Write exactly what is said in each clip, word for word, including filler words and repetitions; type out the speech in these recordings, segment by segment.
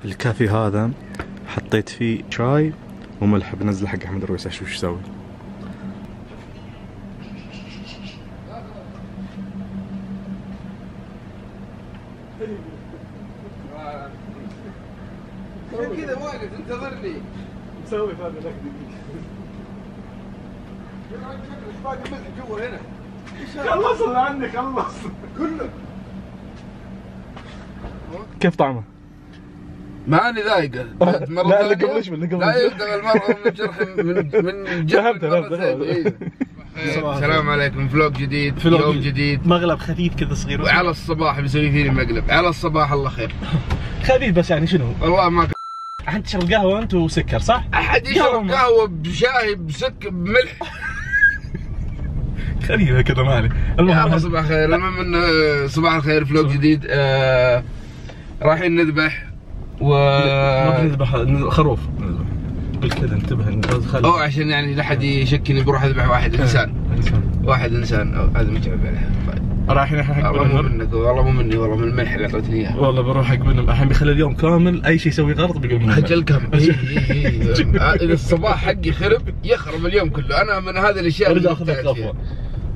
الكافي هذا حطيت فيه شاي وملح، بنزل حق احمد الرويس اشوف ايش يسوي. كذا واقف انتظرني مسوي هذا لك ايش باقي ملح جوا هنا؟ خلصنا عني خلص كله. كيف طعمه؟ معاني ذايقة. لا اللي قبل ايش اللي قبل لا يلدغ المرء من جرح من من جرح مرتين. السلام عليكم، فلوق جديد، يوم جديد، مقلب خفيف كذا صغير وعلى الصباح بيسوي فيني مقلب. على الصباح الله خير خفيف بس يعني شنو؟ والله ما أحد تشرب قهوة أنت وسكر صح؟ أحد يشرب قهوة بشاي بسك بملح خفيفة كذا مالي. المهم صباح الخير. المهم انه صباح الخير، فلوق جديد. آه رايحين نذبح و ما نذبح خروف. قلت كذا انتبه او عشان يعني لا احد يشكني بروح اذبح واحد انسان. واحد انسان هذا متعب عليه. رايحين الحين حق والله مو منك، والله مو مني، والله من الملح اللي اعطيتني اياه. والله بروح حق بنم الحين بيخلي اليوم كامل اي شيء يسوي غلط بيقول من اجل كم. اذا الصباح حقي خرب يخرب اليوم كله. انا من هذه الاشياء اللي اخذ لك غفوه.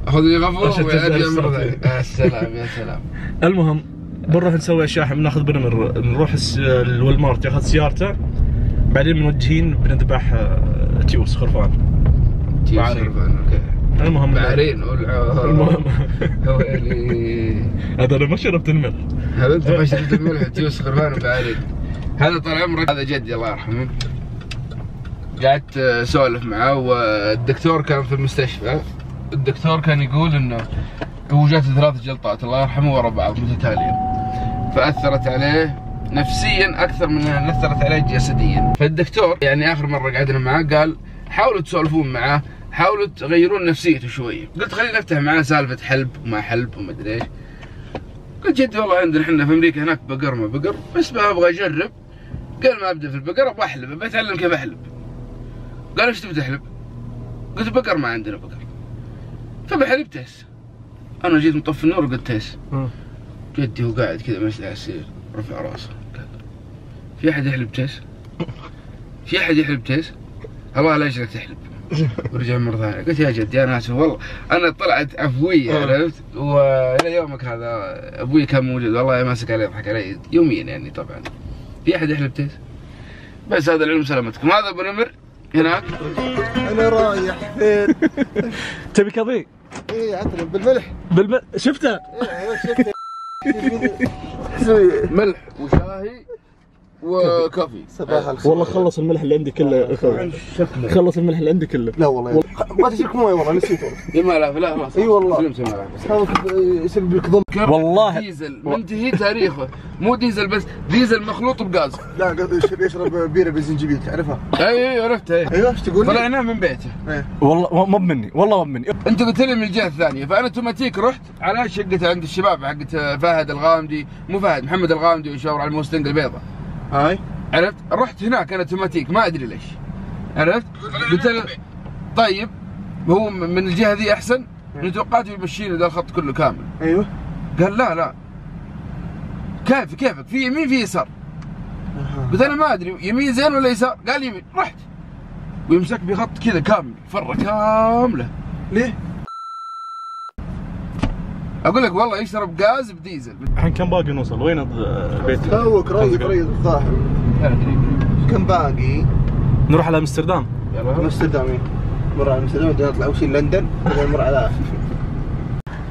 اخذ لي غفوه وارجع مره ثانيه. يا سلام يا سلام. المهم بنروح نسوي اشياء، بناخذ بنمر نروح الوالمارت ياخذ سيارته، بعدين منوجهين بنذبح تيوس خرفان. تيوس خرفان اوكي. المهم بعرين المهم ويلي هذا انا ما شربت الملح. هذا انت ما شربت الملح. تيوس خرفان وبعرين. هذا طال عمرك هذا جدي الله يرحمه. قعدت اسولف معه والدكتور كان في المستشفى. الدكتور كان يقول انه هو جاته ثلاث جلطات الله يرحمه ورا بعض متتاليه، فاثرت عليه نفسيا اكثر من انها اثرت عليه جسديا. فالدكتور يعني اخر مره قعدنا معاه قال حاولوا تسولفون معاه، حاولوا تغيرون نفسيته شوي. قلت خلينا نفتح معاه سالفه حلب وما حلب وما ادري ايش. قلت جدي والله عندنا احنا في امريكا هناك بقر ما بقر، بس ما ابغى اجرب. قال ما ابدا في البقر، ابغى احلب، بتعلم كيف احلب. قال ايش تبي تحلب؟ قلت بقر ما عندنا بقر. فبحلب تيس. انا جيت مطفي النور وقلت تيس. جدي هو قاعد كذا ماشي على السرير رفع راسه قال في احد يحلب تيس؟ في احد يحلب تيس؟ الله لا يجعلك تحلب. ورجع مرة ثانية. قلت يا جدي انا اسف والله انا طلعت عفوية عرفت، والى يومك هذا ابوي كان موجود والله ماسك علي يضحك علي يوميا يعني. طبعا في احد يحلب تيس؟ بس هذا العلم سلامتكم. هذا ابو نمر هناك. انا رايح فين؟ تبي كافي؟ ايه عطني بالملح. بالملح شفته؟ ايوه شفته. ملح وشاي وكافي. صباح الخير. والله خلص الملح اللي عندي كله اخوي. خلص الملح اللي عندي كله. لا والله ما تشرك مويه والله نسيت والله. يا مالها لا خلاص. اي والله. سلمت مالها. هذا يسبب لك ضم. والله ديزل منتهي تاريخه، مو ديزل بس، ديزل مخلوط بغاز. لا يشرب بيره بالزنجبيل تعرفها؟ اي اي عرفتها. ايوه ايش تقول؟ طلعناه من بيته. ايه والله مو مني، والله مو مني. انت قلت لي من الجهه الثانيه، فانا اوتوماتيك رحت على شقته عند الشباب حقت فهد الغامدي، مو فهد محمد الغامدي ويشاور على الموستنج البيضاء. هاي عرفت؟ رحت هناك انا اوتوماتيك ما ادري ليش. عرفت؟ قلت له طيب هو من الجهه ذي احسن؟ توقعت يمشيني ذا الخط كله كامل. ايوه قال لا لا كيف كيفك في يمين في يسار. قلت انا ما ادري يمين زين ولا يسار؟ قال يمين. رحت ويمسك بخط كذا كامل فره كامله. ليه؟ اقول لك والله يشرب غاز بديزل. الحين كم باقي نوصل؟ وين البيت؟ توك رايق رايق الظاهر. كم باقي؟ نروح على امستردام. يلا امستردام. نمر على امستردام بعدين نطلع اول شيء لندن بعدين نمر على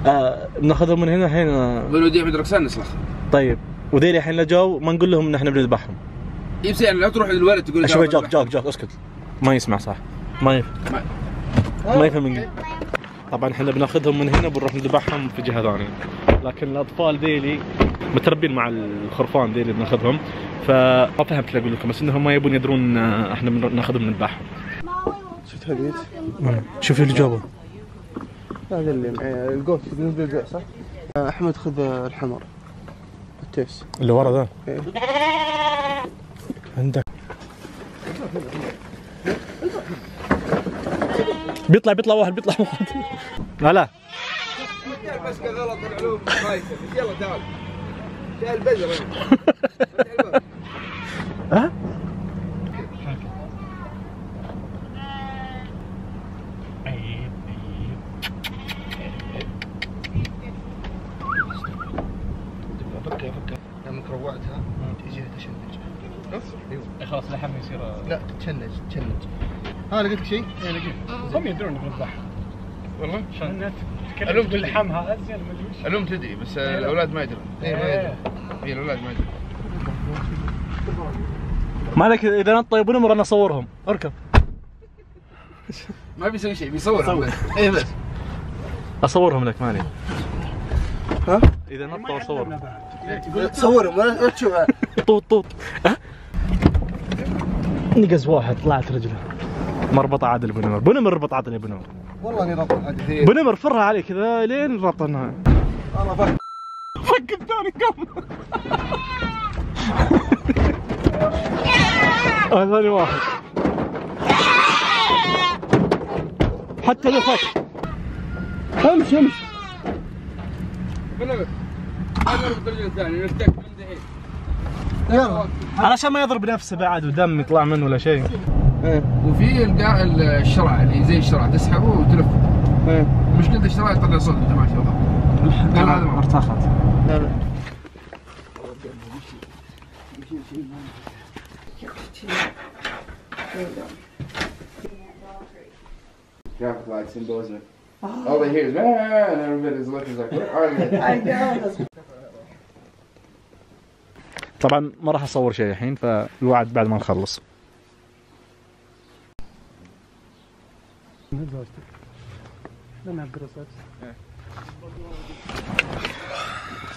آه ناخذهم من هنا الحين. بنوديهم عند ركسان نسلخ. طيب وذيلي الحين لا جو ما نقول لهم ان احنا بنذبحهم. يبس يعني لا تروح للولد تقول شوي جاك جاك جاك اسكت ما يسمع صح ما يفهم ما, ما يفهم انجليزي. طبعا احنا بناخذهم من هنا بنروح نذبحهم في جهه ثانيه، لكن الاطفال ذيلي متربين مع الخرفان ذيلي بناخذهم، فما فهمت اللي اقول لكم، بس انهم ما يبون يدرون احنا ناخذهم نذبحهم. شفت هالبيت؟ شوف اللي جابه هذا اللي معي القوس بالنسبه للبيع صح؟ احمد خذ الحمر التيس اللي ورا ذا. ايه عندك بيطلع بيطلع واحد بيطلع واحد. لا لا بس غلط العلوم خايسه. يلا تعال تعال البزر. ها؟ فكها فكها لما روعتها تجيها تشنج. اي خلاص لحم يصير. لا تشنج تشنج. ها لقيت شيء؟ اي لقيت. هم يدرون انك نذبحها. والله؟ عشان الأم تكلم لحمها ازين ما ادري وش. الأم تدري بس الأولاد ما يدرون. اي ما يدري. اي الأولاد ما يدرون. ما عليك اذا نط يبون امر انا اصورهم. اركب. ما بيسوي شيء بيصورهم بس. اي بس. اصورهم لك مالي. ها؟ اذا نطوا اصورهم. صورهم ولا تشوفها. طوط طوط. ها؟ نقز واحد طلعت رجله. مربط عادل بنمر، بنمر ربط عادل يا بنمر. والله اني ربط حديث. بنمر فرها عليه كذا لين ربطناها. والله فك. فك الثاني كم. آه ثاني واحد. حتى لو فك. امشي امشي. بنمر. هذا نربط الرجل الثاني نفتك من دحين. يلا. علشان ما يضرب نفسه بعد ودم يطلع منه ولا شيء. ايه. وفي القاع الشرع اللي زي الشرع تسحبه وتلف. ايه. مشكلة الشرع يطلع صوت انت ماشي والله. قال هذا ما ارتخت. لا لا. Traffic lights symbolism. All they hear is man and everybody's looking like what are they? I know. طبعا ما راح اصور شيء الحين فالوعد بعد ما نخلص.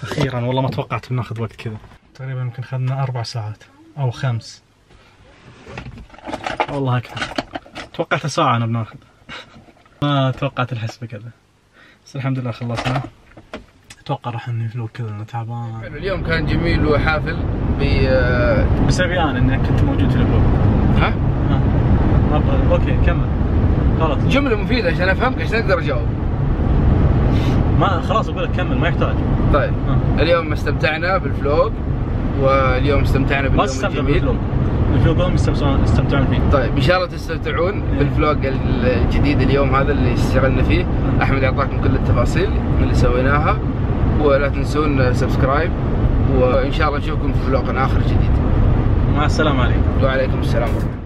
اخيرا والله ما توقعت بناخذ وقت كذا. تقريبا يمكن اخذنا اربع ساعات او خمس. والله اكثر. توقعت ساعة انا بناخذ. ما توقعت الحسبة كذا. بس الحمد لله خلصنا. اتوقع راح نفلو كذا انه تعبان. اليوم كان جميل وحافل ب بسببي انا انك كنت موجود في الفلوق. ها؟ ها. اوكي كمل. غلط. جملة مفيدة عشان افهمك عشان اقدر اجاوب. ما خلاص اقول لك كمل ما يحتاج. طيب. ها. اليوم استمتعنا بالفلوج واليوم استمتعنا باليوم الجميل. الفلوق هم يستمتعون فيه. طيب ان شاء الله تستمتعون بالفلوج الجديد اليوم هذا اللي اشتغلنا فيه. احمد يعطاكم كل التفاصيل اللي سويناها ولا تنسون سبسكرايب وان شاء الله نشوفكم في فلوق اخر جديد. مع السلامة عليكم. وعليكم السلام ورحمة الله.